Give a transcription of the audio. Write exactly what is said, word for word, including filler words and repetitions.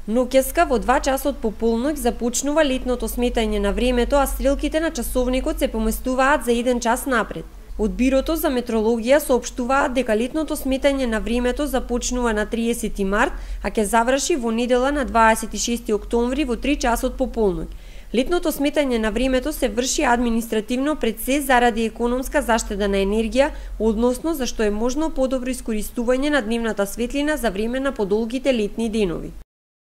Ноќеска во два часот по полноќ започнува летното сметање на времето, а стрелките на часовникот се поместуваат за еден час напред. Од Бирото за метрологија соопштуваат дека летното сметање на времето започнува на триесети март, а ќе заврши во недела на дваесет и шести октомври во три часот по полноќ. Летното сметање на времето се врши административно пред се заради економска заштеда на енергија, односно зашто е можно подобро искористување на дневната светлина за време на подолгите летни денови.